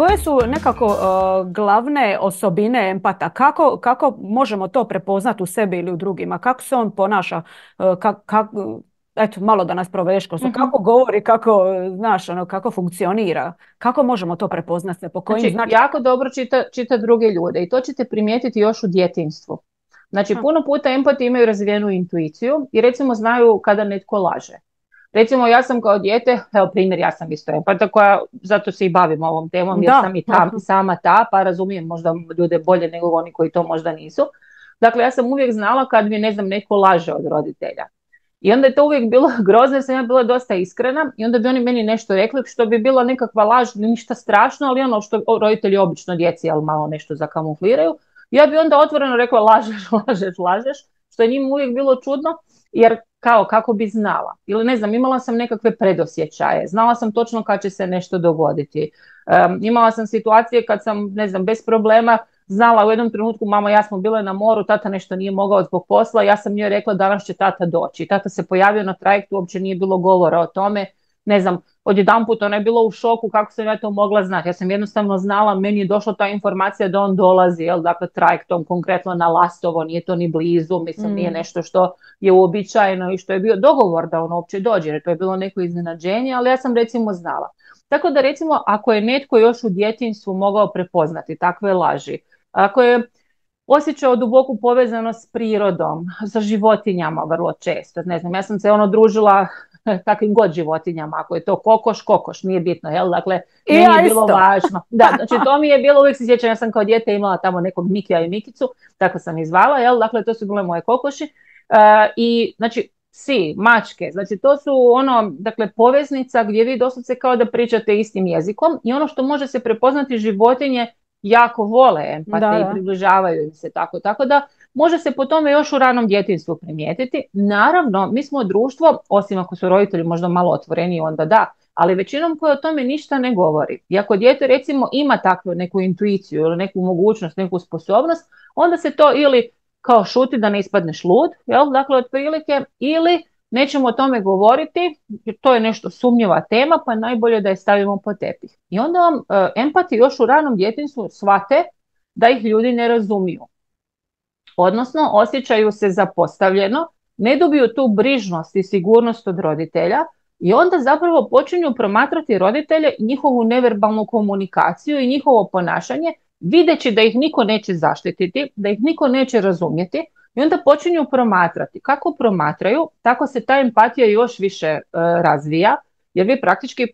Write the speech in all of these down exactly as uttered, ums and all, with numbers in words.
koje su nekako uh, glavne osobine empata? Kako, kako možemo to prepoznati u sebi ili u drugima? Kako se on ponaša? Uh, kak, kak, eto, malo da nas provedeš kroz to. Mhm. Kako govori, kako, znaš, ono, kako funkcionira? Kako možemo to prepoznati? Po kojim Znači, značajkama? jako dobro čita, čita druge ljude i to ćete primijetiti još u djetinjstvu. Znači, puno puta empati imaju razvijenu intuiciju i recimo znaju kada netko laže. Recimo, ja sam kao dijete, evo primjer, ja sam isto empata koja, zato se i bavim ovom temom jer sam Da. i tam, sama ta, pa razumijem možda ljude bolje nego oni koji to možda nisu. Dakle, ja sam uvijek znala kad mi, ne znam, netko laže od roditelja. I onda je to uvijek bilo grozno jer sam ja bila dosta iskrena i onda bi oni meni nešto rekli što bi bila nekakva laž, ništa strašno, ali ono što roditelji obično djeci, ali malo nešto zakamufliraju. Ja bi onda otvoreno rekla lažeš, lažeš, lažeš, što je njima uvijek bilo čudno, jer kao kako bi znala. Ili ne znam, imala sam nekakve predosjećaje, znala sam točno kad će se nešto dogoditi. Um, imala sam situacije kad sam, ne znam, bez problema znala u jednom trenutku, mama i ja smo bile na moru, tata nešto nije mogao zbog posla, ja sam njoj rekla danas će tata doći. Tata se pojavio na trajektu, uopće nije bilo govora o tome, ne znam, odjedanput ona je bila u šoku kako sam ja to mogla znati. Ja sam jednostavno znala, meni je došla ta informacija da on dolazi, jel, dakle trajektom konkretno na Lastovo, nije to ni blizu, mislim nije Mm. nešto što je uobičajeno i što je bio dogovor da on uopće dođe, jer to je bilo neko iznenađenje, ali ja sam recimo znala. Tako da recimo ako je netko još u djetinjstvu mogao prepoznati takve laži, ako je osjećao duboku povezanost s prirodom, sa životinjama vrlo često. Ne znam, ja sam se ono družila kakvim god životinjama, ako je to kokoš, kokoš, nije bitno, jel? Dakle, I meni je ja bilo isto. važno. Da, znači to mi je bilo, uvijek se sjećam, ja sam kao dijete imala tamo nekog Mikija i Mikicu, tako sam ih zvala, jel? Dakle, to su bile moje kokoši. Uh, I, znači, psi, mačke, znači to su ono, dakle, poveznica gdje vi doslovce kao da pričate istim jezikom i ono što može se prepoznati životinje jako vole empate Da, i da. približavaju im se tako. Tako da može se po tome još u ranom djetinjstvu primijetiti. Naravno, mi smo društvo, osim ako su roditelji možda malo otvoreniji, onda da, ali većinom koje o tome ništa ne govori. I ako dijete recimo ima takvu neku intuiciju ili neku mogućnost, neku sposobnost, onda se to ili kao šuti da ne ispadneš lud, jel? Dakle, otprilike, ili nećemo o tome govoriti, jer to je nešto sumnjiva tema, pa najbolje da je stavimo pod tepih. I onda vam e, empati još u ranom djetinjstvu shvate da ih ljudi ne razumiju. Odnosno, osjećaju se zapostavljeno, ne dobiju tu brižnost i sigurnost od roditelja i onda zapravo počinju promatrati roditelje i njihovu neverbalnu komunikaciju i njihovo ponašanje, videći da ih niko neće zaštititi, da ih niko neće razumjeti i onda počinju promatrati. Kako promatraju, tako se ta empatija još više e, razvija, jer vi praktički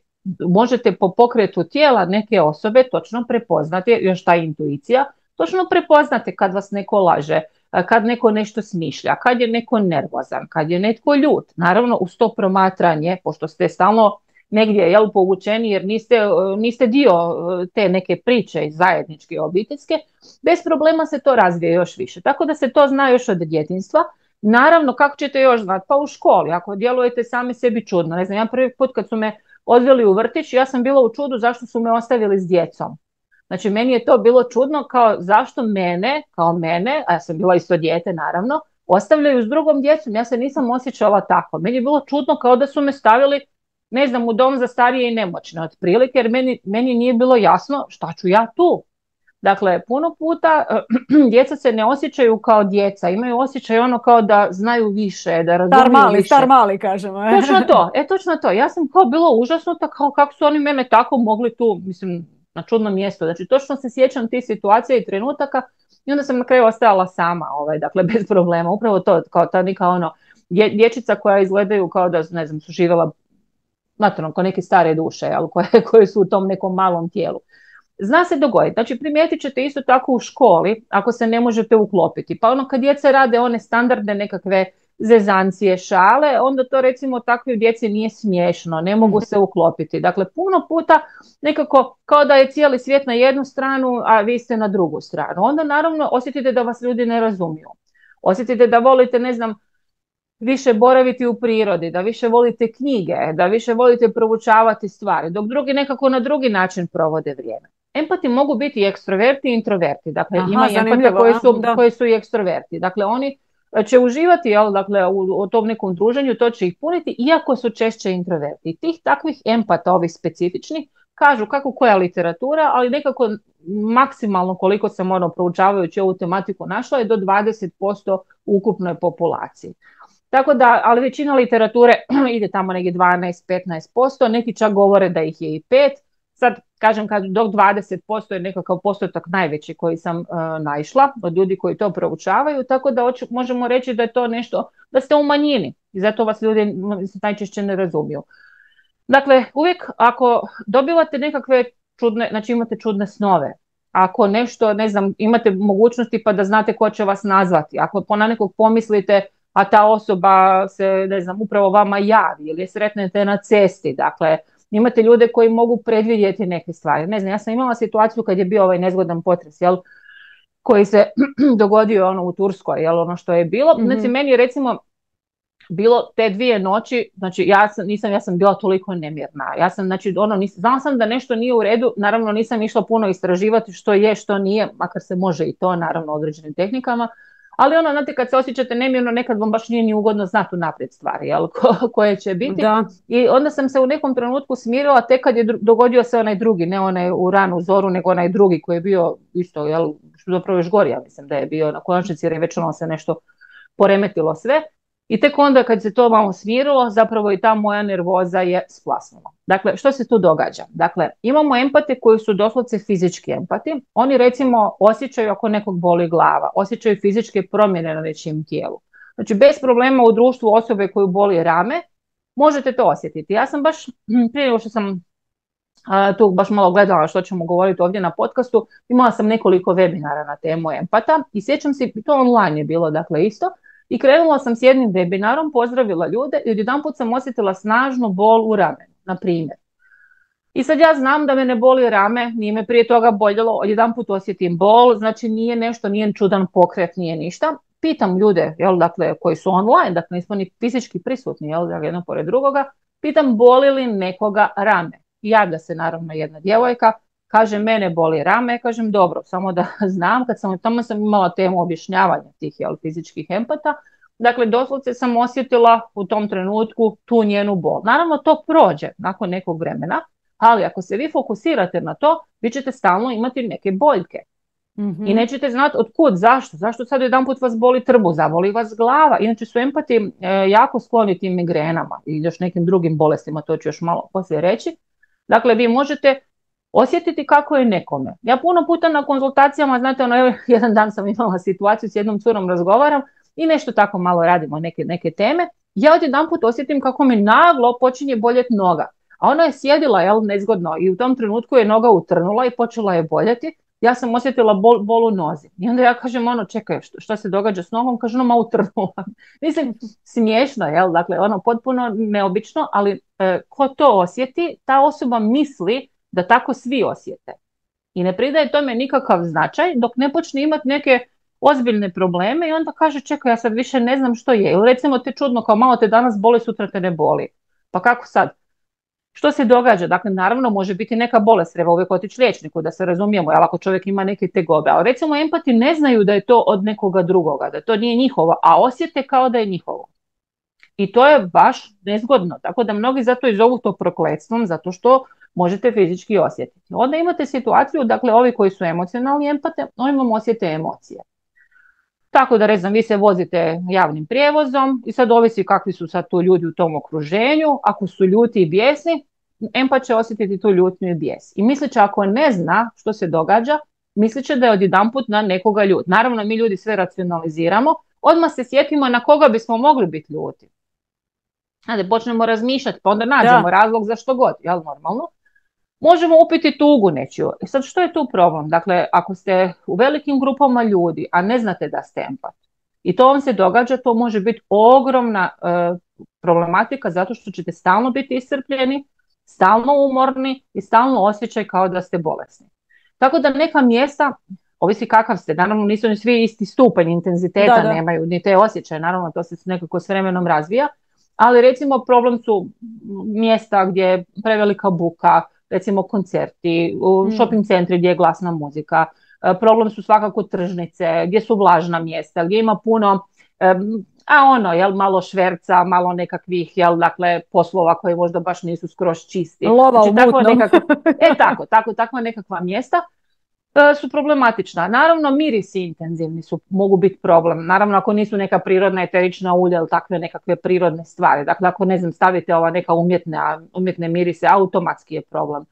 možete po pokretu tijela neke osobe točno prepoznati, još ta intuicija, točno prepoznate kad vas neko laže, kad neko nešto smišlja, kad je neko nervozan, kad je netko ljut. Naravno, uz to promatranje, pošto ste stalno negdje jel, povučeni jer niste, niste dio te neke priče zajedničke obiteljske, bez problema se to razvije još više. Tako da se to zna još od djetinjstva. Naravno, kako ćete još znati? Pa u školi, ako djelujete sami sebi čudno. Ne znam, ja prvi put kad su me odveli u vrtić, ja sam bila u čudu zašto su me ostavili s djecom. Znači, meni je to bilo čudno kao zašto mene, kao mene, a ja sam bila isto dijete naravno, ostavljaju s drugom djecom. Ja se nisam osjećala tako. Meni je bilo čudno kao da su me stavili, ne znam, u dom za starije i nemoćne otprilike, jer meni, meni nije bilo jasno šta ću ja tu. Dakle, puno puta djeca se ne osjećaju kao djeca, imaju osjećaj ono kao da znaju više, da razumiju Star mali, više. star mali, kažemo. Točno to, e točno to. Ja sam kao bila užasnuta kao kako su oni mene tako mogli tu, mislim, na čudno mjesto. Znači, točno se sjećam tih situacija i trenutaka i onda sam na kraju ostajala sama, ovaj, dakle, bez problema. Upravo to, kao ta neka ono, dje, dječica koja izgledaju kao da, ne znam, su živjela, znate, ono, kao neke stare duše, ali koje, koje su u tom nekom malom tijelu. Zna se dogoditi. Znači, primijetit ćete isto tako u školi, ako se ne možete uklopiti. Pa ono, kad djeca rade one standardne nekakve zezancije, šale, onda to recimo takvoj djeci nije smiješno, ne mogu se uklopiti. Dakle, puno puta nekako kao da je cijeli svijet na jednu stranu, a vi ste na drugu stranu. Onda naravno osjetite da vas ljudi ne razumiju. Osjetite da volite, ne znam, više boraviti u prirodi, da više volite knjige, da više volite proučavati stvari, dok drugi nekako na drugi način provode vrijeme. Empati mogu biti i ekstroverti i introverti. Dakle, Aha, ima i empata koji su, da. koji su i ekstroverti. Dakle, oni će uživati jel, dakle, u, u tom nekom druženju, to će ih puniti, iako su češće introverti. Tih takvih empata, ovih specifičnih, kažu kako koja literatura, ali nekako maksimalno koliko sam ono proučavajući ovu tematiku našla je do dvadeset posto ukupnoj populaciji. Tako da, ali većina literature ide tamo negdje dvanaest do petnaest posto, neki čak govore da ih je i pet. Sad, kažem, kad dok dvadeset posto je nekakav postotak najveći koji sam uh, naišla od ljudi koji to proučavaju, tako da oči, možemo reći da je to nešto, da ste u manjini i zato vas ljudi najčešće ne razumiju. Dakle, uvijek ako dobivate nekakve čudne, znači imate čudne snove, ako nešto, ne znam, imate mogućnosti pa da znate ko će vas nazvati, ako po na nekog pomislite, a ta osoba se, ne znam, upravo vama javi ili je sretnete na cesti, dakle, imate ljude koji mogu predvidjeti neke stvari. Ne znam, ja sam imala situaciju kad je bio ovaj nezgodan potres, jel, koji se dogodio ono u Turskoj, jel, ono što je bilo. Mm-hmm. Znači, meni je recimo bilo te dvije noći, znači ja sam, nisam, ja sam bila toliko nemirna. Ja sam, znači, ono, nisam, znala sam da nešto nije u redu, naravno nisam išla puno istraživati što je, što nije, makar se može i to, naravno, određenim tehnikama. Ali ono, znate, kad se osjećate nemirno, nekad vam baš nije ni ugodno znati unaprijed stvari, jel, ko, koje će biti. Da. I onda sam se u nekom trenutku smirila, tek kad je dru- dogodio se onaj drugi, ne onaj u ranu zoru, nego onaj drugi koji je bio isto, jel, zapravo još gori, ja mislim da je bio na konačnici, jer je već ono se nešto poremetilo sve. I tek onda kad se to malo smirilo, zapravo i ta moja nervoza je splasnula. Dakle, što se tu događa? Dakle, imamo empate koji su doslovce fizički empati. Oni recimo osjećaju ako nekog boli glava, osjećaju fizičke promjene na nečijem tijelu. Znači, bez problema u društvu osobe koju boli rame, možete to osjetiti. Ja sam baš, prije nego što sam a, tu baš malo gledala što ćemo govoriti ovdje na podcastu, imala sam nekoliko webinara na temu empata i sjećam se, to online je bilo, dakle, isto. I krenula sam s jednim webinarom, pozdravila ljude i odjedanput sam osjetila snažnu bol u ramenu, na primjer. I sad ja znam da me ne boli rame, nije me prije toga boljelo, odjedanput osjetim bol, znači nije nešto, nije čudan pokret, nije ništa. Pitam ljude, jel, dakle, koji su online, dakle nismo ni fizički prisutni, jel, jedno pored drugoga, pitam boli li nekoga rame. I javlja se naravno jedna djevojka, kaže mene boli rame, kažem dobro, samo da znam, kad sam tamo sam imala temu objašnjavanja tih, jel, fizičkih empata, dakle doslovce sam osjetila u tom trenutku tu njenu bol. Naravno to prođe nakon nekog vremena, ali ako se vi fokusirate na to, vi ćete stalno imati neke boljke. Mm-hmm. I nećete znati od kud, zašto, zašto sad jedanput vas boli trbuh, zaboli vas glava. Inače su empati e, jako skloni tim migrenama i još nekim drugim bolestima, to ću još malo poslije reći. Dakle, vi možete osjetiti kako je nekome. Ja puno puta na konzultacijama, znate, ono, jedan dan sam imala situaciju s jednom curom razgovaram i nešto tako malo radimo, neke, neke teme. Ja odjedanput osjetim kako mi naglo počinje boljeti noga. A ona je sjedila, jel, nezgodno i u tom trenutku je noga utrnula i počela je boljeti. Ja sam osjetila bol, bol u nozi. I onda ja kažem, ono, čekaj, što, što se događa s nogom? Kaže, ono, ma utrnula. Mislim, smiješno, jel, dakle, ono, potpuno neobično, ali e, ko to osjeti, ta osoba misli da tako svi osjete. I ne pridaje tome nikakav značaj dok ne počne imati neke ozbiljne probleme i onda kaže, čekaj, ja sad više ne znam što je. Ili recimo te čudno, kao malo te danas boli, sutra te ne boli. Pa kako sad? Što se događa? Dakle, naravno može biti neka bolest, treba uvijek otići liječniku da se razumijemo, jel, ako čovjek ima neke tegobe. Ali recimo empati ne znaju da je to od nekoga drugoga, da to nije njihovo, a osjete kao da je njihovo. I to je baš nezgodno, tako da mnogi zato i zovu to prokletstvom, zato što možete fizički osjetiti. Onda imate situaciju, dakle, ovi koji su emocionalni empate, oni vam osjete emocije. Tako da, recimo, vi se vozite javnim prijevozom i sad ovisi kakvi su sad tu ljudi u tom okruženju. Ako su ljuti i bijesni, empat će osjetiti tu ljutnju i bijes. I mislit će, ako ne zna što se događa, mislit će da je odjedanput na nekoga ljut. Naravno, mi ljudi sve racionaliziramo, odmah se sjetimo na koga bismo mogli biti ljuti. Znate, počnemo razmišljati, pa onda nađemo da. razlog za što god, jel, normalno. Možemo upiti tugu nečiju. I sad što je tu problem? Dakle, ako ste u velikim grupama ljudi, a ne znate da ste empat, i to vam se događa, to može biti ogromna e, problematika zato što ćete stalno biti iscrpljeni, stalno umorni i stalno osjećaj kao da ste bolesni. Tako da neka mjesta, ovisi kakav ste, naravno nisu ni svi isti stupanj intenziteta, da, da. nemaju ni te osjećaje, naravno to se nekako s vremenom razvija, ali recimo problem su mjesta gdje je prevelika buka, recimo koncerti, u mm. shopping centri gdje je glasna muzika. E, problem su svakako tržnice, gdje su vlažna mjesta, gdje ima puno, e, a ono, jel, malo šverca, malo nekakvih, jel, dakle, poslova koji možda baš nisu skroz čisti. Lova Znači, u tako mutnom. nekako, e tako, tako, takva nekakva mjesta e, su problematična. Naravno, mirisi intenzivni su, mogu biti problem. Naravno, ako nisu neka prirodna eterična ulja ili takve nekakve prirodne stvari. Dakle, ako, ne znam, stavite ova neka umjetne, umjetne mirise, automatski je problem.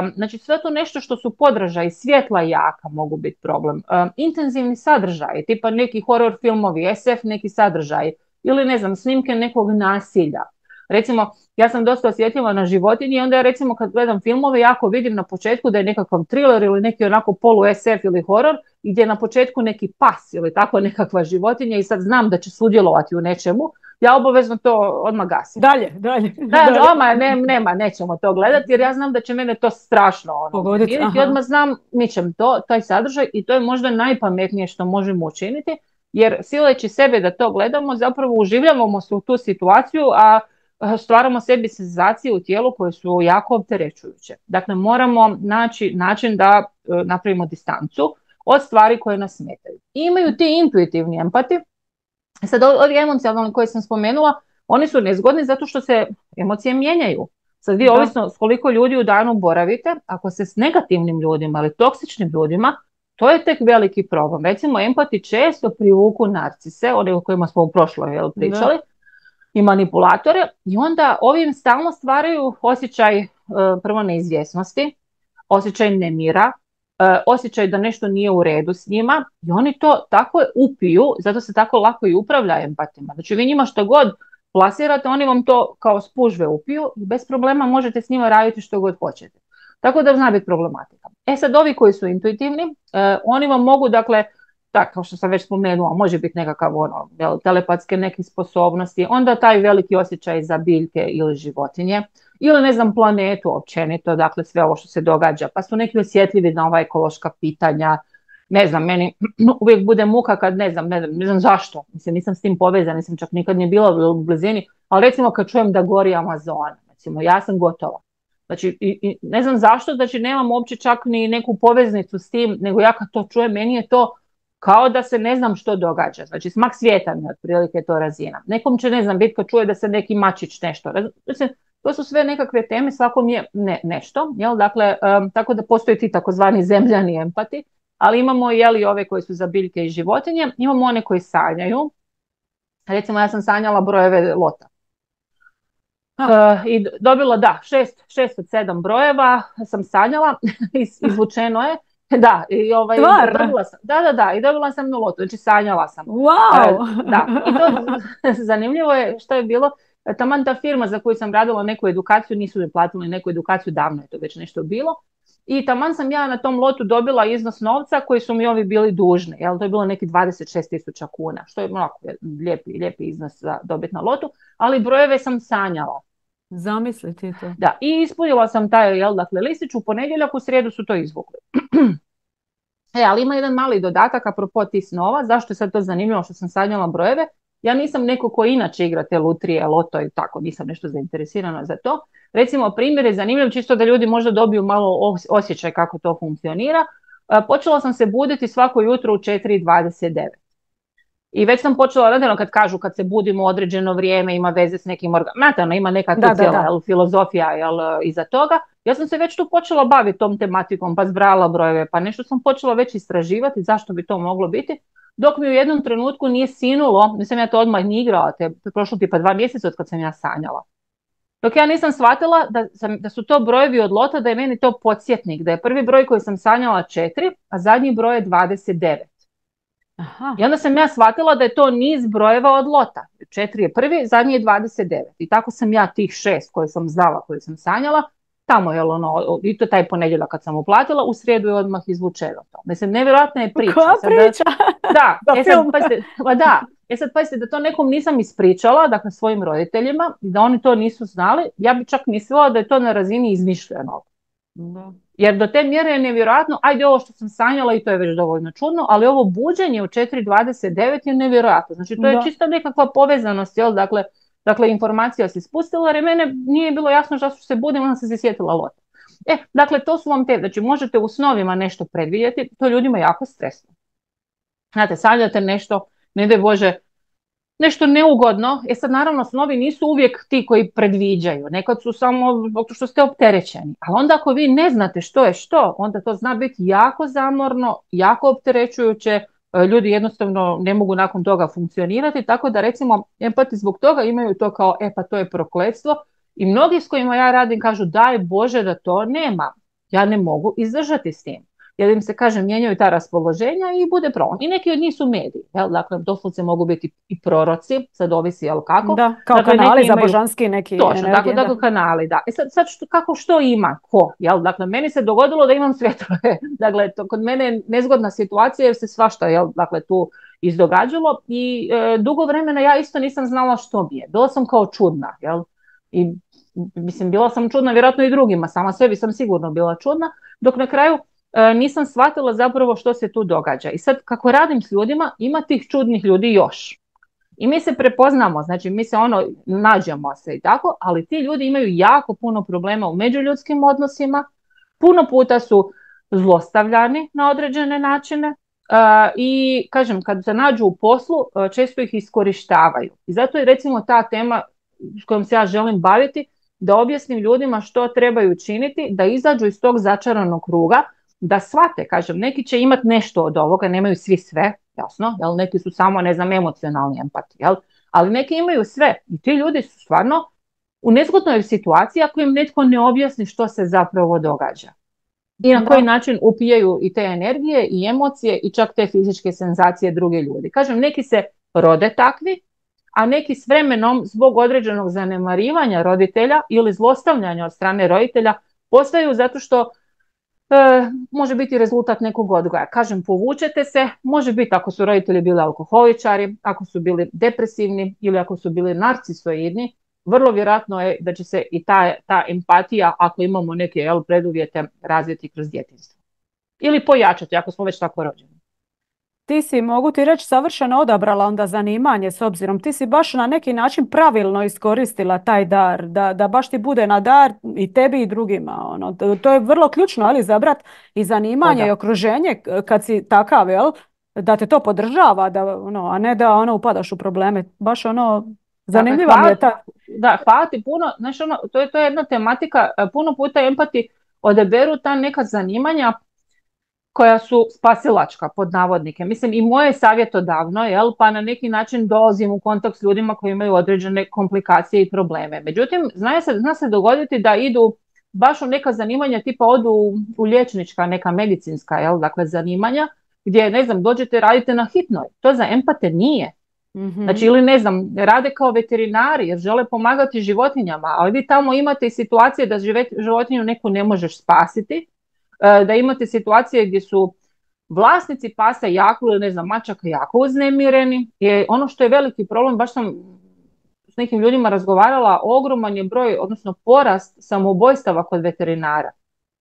Um, znači, sve to nešto što su podražaji, svjetla jaka mogu biti problem. Um, intenzivni sadržaji, tipa neki horror filmovi, es ef neki sadržaji, ili, ne znam, snimke nekog nasilja. Recimo, ja sam dosta osjetljiva na životinje i onda ja, recimo, kad gledam filmove, jako vidim na početku da je nekakav thriller ili neki onako polu es ef ili horor, gdje je na početku neki pas ili tako nekakva životinja i sad znam da će sudjelovati u nečemu, ja obavezno to odmah gasim. Dalje, dalje. Da, dalje. oma, ne, nema, nećemo to gledati jer ja znam da će mene to strašno ono, Pogoditi, umiriti i aha. odmah znam mićem to, taj sadržaj i to je možda najpametnije što možemo učiniti, jer sileći sebe da to gledamo zapravo uživljavamo se u tu situaciju, a stvaramo sebi senzacije u tijelu koje su jako opterećujuće. Dakle, moramo naći način da e, napravimo distancu od stvari koje nas smetaju. I imaju ti intuitivni empati. Sad, ovi emocionalni koje sam spomenula, oni su nezgodni zato što se emocije mijenjaju. Sad vi, Da. ovisno s koliko ljudi u danu boravite, ako se s negativnim ljudima ili toksičnim ljudima, to je tek veliki problem. Recimo, empati često privuku narcise, one o kojima smo u prošloj jel, pričali, Da. i manipulatore, i onda ovim stalno stvaraju osjećaj e, prvo neizvjesnosti, osjećaj nemira, e, osjećaj da nešto nije u redu s njima i oni to tako upiju, zato se tako lako i upravlja empatima. Znači vi njima što god plasirate, oni vam to kao spužve upiju i bez problema možete s njima raditi što god hoćete. Tako da zna biti problematika. E sad, ovi koji su intuitivni, e, oni vam mogu, dakle, tako kao što sam već spomenula, može biti nekakav ono, jel, telepatske neke sposobnosti, onda taj veliki osjećaj za biljke ili životinje, ili, ne znam, planetu općenito, dakle sve ovo što se događa, pa su neki osjetljivi na ova ekološka pitanja, ne znam, meni uvijek bude muka kad ne znam, ne znam, ne znam zašto, mislim, nisam s tim povezana, nisam čak nikad nije bila u blizini, ali recimo kad čujem da gori Amazon, recimo, ja sam gotova. Znači, i, i ne znam zašto, znači nemam uopće čak ni neku poveznicu s tim, nego ja kad to čujem, meni je to kao da se ne znam što događa. Znači, smak svijeta mi je otprilike to razina. Nekom će, ne znam, biti kad čuje da se neki mačić nešto. Znači, to su sve nekakve teme, svakom je ne, nešto. Jel? Dakle, um, tako da postoji ti takozvani zemljani empati, ali imamo jeli, ove koji su za biljke i životinje, imamo one koji sanjaju. Recimo, ja sam sanjala brojeve lota. Uh, I dobila, da, šest, šest od sedam brojeva sam sanjala, izvučeno je. Da, i ovaj, dobila sam, da, da, da, i dobila sam na lotu, znači sanjala sam. Wow! Uh, da, i to zanimljivo je što je bilo, taman ta firma za koju sam radila neku edukaciju, nisu mi platili neku edukaciju, davno je to već nešto bilo. I taman sam ja na tom lotu dobila iznos novca koji su mi ovi bili dužni, jel, to je bilo neki dvadeset šest tisuća kuna, što je onako lijepi, lijepi iznos za dobiti na lotu, ali brojeve sam sanjala. Zamislite to. Da, i ispunila sam taj, jel, dakle, listić, u ponedjeljak, u srijedu su to izvukli. E, ali ima jedan mali dodatak apropo tih snova, zašto je sad to zanimljivo što sam sanjala brojeve. Ja nisam neko ko inače igra te lutrije, loto i tako, nisam nešto zainteresirana za to. Recimo, primjer je zanimljiv, čisto da ljudi možda dobiju malo osjećaj kako to funkcionira. Počela sam se buditi svako jutro u četiri i dvadeset devet. I već sam počela, naravno kad kažu kad se budimo određeno vrijeme, ima veze s nekim organom, ima nekakva cijela jel, filozofija jel, iza toga. Ja sam se već tu počela baviti tom tematikom, pa zbrala brojeve, pa nešto sam počela već istraživati zašto bi to moglo biti. Dok mi u jednom trenutku nije sinulo, nisam ja to odmah ni igrala, te prošlo tipa dva mjeseca od kad sam ja sanjala. Dok ja nisam shvatila da, sam, da su to brojevi od lota, da je meni to podsjetnik, da je prvi broj koji sam sanjala četiri, a zadnji broj je dvadeset devet. Aha. I onda sam ja shvatila da je to niz brojeva od lota. četiri je prvi, zadnji je dvadeset devet. I tako sam ja tih šest koje sam znala, koje sam sanjala, tamo je ono, i to taj ponedjeljak kad sam uplatila, u srijedu je odmah izvučeno to. Mislim, nevjerojatna je priča. Koja priča? Da, da, e sad, pazite, da, e sad pazite da to nekom nisam ispričala, dakle svojim roditeljima, da oni to nisu znali, ja bi čak mislila da je to na razini izmišljenog. Da. Jer do te mjere je nevjerojatno, ajde ovo što sam sanjala i to je već dovoljno čudno, ali ovo buđenje u četiri dvadeset devet je nevjerojatno. Znači to je da. Čisto nekakva povezanost, jel? Dakle, dakle informacija se spustila jer mene nije bilo jasno zašto se budim, onda sam se sjetila lota. E, dakle to su vam te, znači možete u snovima nešto predvidjeti, to je ljudima jako stresno. Znate, sanjate nešto, ne daj Bože, nešto neugodno. E sad naravno snovi nisu uvijek ti koji predviđaju, nekad su samo zbog toga što ste opterećeni. Ali onda ako vi ne znate što je što, onda to zna biti jako zamorno, jako opterećujuće, ljudi jednostavno ne mogu nakon toga funkcionirati, tako da recimo empati zbog toga imaju to kao e pa to je prokletstvo i mnogi s kojima ja radim kažu daj Bože da to nema, ja ne mogu izdržati s tim. Jer im se, kaže, mijenjaju ta raspoloženja i bude problem. I neki od njih su mediji, jel? Dakle, doslovce mogu biti i proroci, sad ovisi, jel kako. Da, kao dakle, kanali za božanski neki točno, energije. Točno, dakle, dakle, kanali, da. E sad, sad što, kako što ima, ko, jel? Dakle, meni se dogodilo da imam svjetlove. Dakle, to kod mene je nezgodna situacija jer se svašta, jel, dakle, tu izdogađalo i e, dugo vremena ja isto nisam znala što mi je. Bila sam kao čudna, jel? I, mislim, bila sam čudna vjerojatno i drugima, sama sebi sam sigurno bila čudna, dok na kraju nisam shvatila zapravo što se tu događa. I sad kako radim s ljudima, ima tih čudnih ljudi još. I mi se prepoznamo, znači mi se ono, nađemo se i tako, ali ti ljudi imaju jako puno problema u međuljudskim odnosima, puno puta su zlostavljani na određene načine uh, i kažem, kad se nađu u poslu, uh, često ih iskorištavaju. I zato je recimo ta tema s kojom se ja želim baviti, da objasnim ljudima što trebaju činiti, da izađu iz tog začaranog kruga, da shvate, kažem, neki će imati nešto od ovoga, nemaju svi sve, jasno, jel, neki su samo, ne znam, emocionalni empati, jel, ali neki imaju sve i ti ljudi su stvarno u nezgodnoj situaciji ako im netko ne objasni što se zapravo događa. I na koji način upijaju i te energije i emocije i čak te fizičke senzacije druge ljudi. Kažem, neki se rode takvi, a neki s vremenom zbog određenog zanemarivanja roditelja ili zlostavljanja od strane roditelja postaju zato što E, može biti rezultat nekog odgoja. Kažem, povučete se, može biti ako su roditelji bili alkoholičari, ako su bili depresivni ili ako su bili narcisoidni, vrlo vjerojatno je da će se i ta, ta empatija, ako imamo neke jel, preduvjete, razviti kroz djetinjstvo. Ili pojačati, ako smo već tako rođeni. Ti si, mogu ti reći, savršeno odabrala onda zanimanje s obzirom. Ti si baš na neki način pravilno iskoristila taj dar, da, da baš ti bude na dar i tebi i drugima. Ono. To je vrlo ključno, ali zabrat i zanimanje i okruženje kad si takav, jel? Da te to podržava, da, ono, a ne da ono, upadaš u probleme. Baš ono, zanimljiva mi je ta... Da, hvala ti puno. Znaš, ono, to, je, to je jedna tematika, puno puta empati odaberu ta neka zanimanja koja su spasilačka, pod navodnike. Mislim, i moje savjetodavno, jel, pa na neki način dolazim u kontakt s ljudima koji imaju određene komplikacije i probleme. Međutim, zna se, zna se dogoditi da idu baš u neka zanimanja, tipa odu u, u liječnička, neka medicinska, jel, dakle, zanimanja, gdje, ne znam, dođete, radite na hitnoj. To za empate nije. Mm-hmm. Znači, ili ne znam, rade kao veterinari jer žele pomagati životinjama, ali vi tamo imate situacije da životinju neku ne možeš spasiti, da imate situacije gdje su vlasnici pasa jako ili ne znam mačaka jako uznemireni. Je ono što je veliki problem, baš sam s nekim ljudima razgovarala, ogroman je broj, odnosno porast samoubojstava kod veterinara.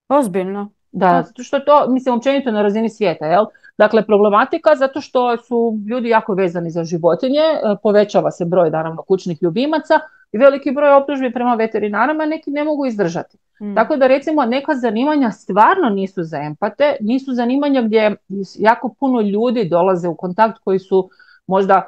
Ozbiljno. Da, zato što to, mislim, općenito na razini svijeta, jel? Dakle, problematika zato što su ljudi jako vezani za životinje, povećava se broj, naravno, kućnih ljubimaca i veliki broj optužbi prema veterinarama neki ne mogu izdržati. Mm. Tako da, recimo, neka zanimanja stvarno nisu za empate, nisu zanimanja gdje jako puno ljudi dolaze u kontakt koji su možda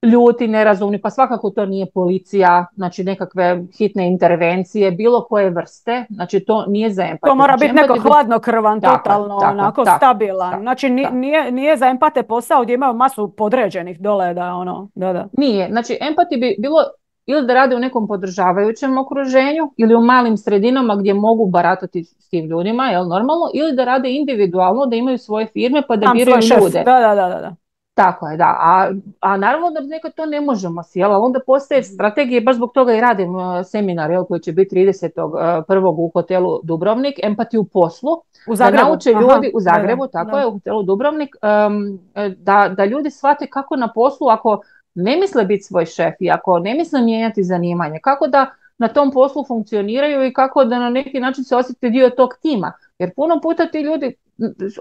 ljuti, nerazumni, pa svakako to nije policija, znači nekakve hitne intervencije, bilo koje vrste, znači to nije za empate. To mora znači, biti neko hladnokrvan, totalno, tako, onako tako, stabilan. tako, znači nije, tako. nije, nije za empate posao gdje imaju masu podređenih dole, da ono, da, da. Nije, znači empati bi bilo ili da rade u nekom podržavajućem okruženju ili u malim sredinama gdje mogu baratati s tim ljudima, jel normalno, ili da rade individualno, da imaju svoje firme pa da Tam biraju ljude. Da, da, da, da. Tako je, da. A, a naravno da nekad to ne možemo si, jel? Onda postoje strategije, baš zbog toga i radim uh, seminar, jel, koji će biti tridesetog prvog u hotelu Dubrovnik, empati u poslu. U Zagrebu. Da nauče ljudi, Aha, u Zagrebu, da, tako da. je, u hotelu Dubrovnik, um, da, da ljudi shvate kako na poslu, ako ne misle biti svoj šef i ako ne misle mijenjati zanimanje, kako da na tom poslu funkcioniraju i kako da na neki način se osjeti dio tog tima. Jer puno puta ti ljudi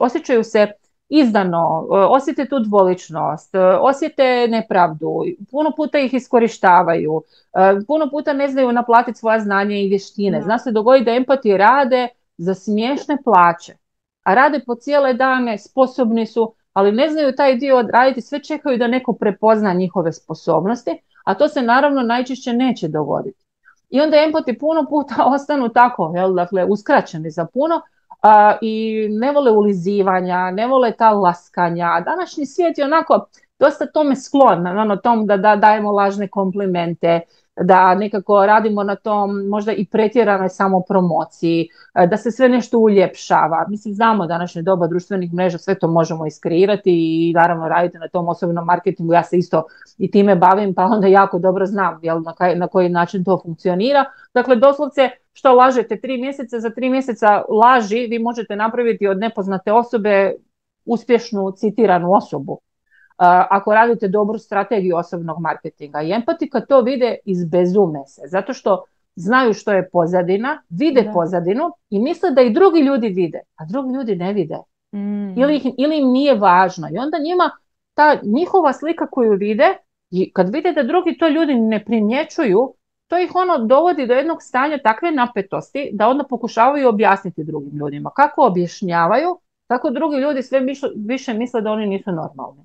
osjećaju se izdano, osjete tu dvoličnost, osjete nepravdu, puno puta ih iskorištavaju, puno puta ne znaju naplatiti svoja znanja i vještine. Zna se dogoditi da empati rade za smiješne plaće, a rade po cijele dane, sposobni su, ali ne znaju taj dio odraditi, sve čekaju da neko prepozna njihove sposobnosti, a to se naravno najčešće neće dogoditi. I onda empati puno puta ostanu tako, jel, dakle, uskraćeni za puno, a, i ne vole ulizivanja, ne vole ta laskanja. Današnji svijet je onako dosta tome sklon, ono tom da, da dajemo lažne komplimente, da nekako radimo na tom možda i pretjeranoj samopromociji, da se sve nešto uljepšava. Mislim, znamo današnje doba društvenih mreža, sve to možemo iskreirati i naravno raditi na tom osobnom marketingu. Ja se isto i time bavim, pa onda jako dobro znam, jel, na, kaj, na koji način to funkcionira. Dakle, doslovce što lažete tri mjeseca, za tri mjeseca laži vi možete napraviti od nepoznate osobe uspješnu citiranu osobu. Ako radite dobru strategiju osobnog marketinga. I empati kad to vide izbezume se, zato što znaju što je pozadina, vide da. pozadinu i misle da i drugi ljudi vide, a drugi ljudi ne vide. Mm. Ili, ih, ili im nije važno. I onda njima ta njihova slika koju vide, i kad vide da drugi to ljudi ne primjećuju, to ih ono dovodi do jednog stanja takve napetosti da onda pokušavaju objasniti drugim ljudima. Kako objašnjavaju, tako drugi ljudi sve više, više misle da oni nisu normalni.